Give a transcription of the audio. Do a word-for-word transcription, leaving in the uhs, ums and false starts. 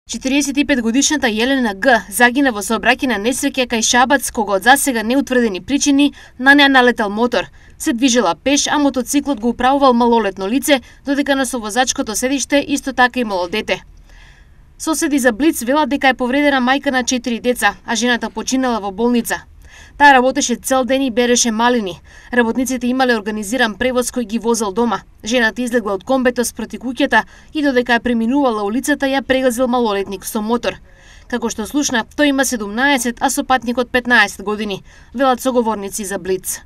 четириесет и пет годишната Јелена Г загина во сообраќајна несреќа кај Шабац, кога од засега неутврдени причини на неа налетал мотор. Се движела пеш, а мотоциклот го управувал малолетно лице, додека на совозачкото седиште исто така имало дете. Соседи за Блиц велат дека е повредена мајка на четири деца, а жената починала во болница. Таа работеше цел ден и береше малини. Работниците имале организиран превоз кој ги возел дома. Жената излегла од комбето спроти куќата и додека ја преминувала улицата ја прегазил малолетник со мотор. Како што слушна, тој има седумнаесет, а сопатникот петнаесет години, велат соговорници за Блиц.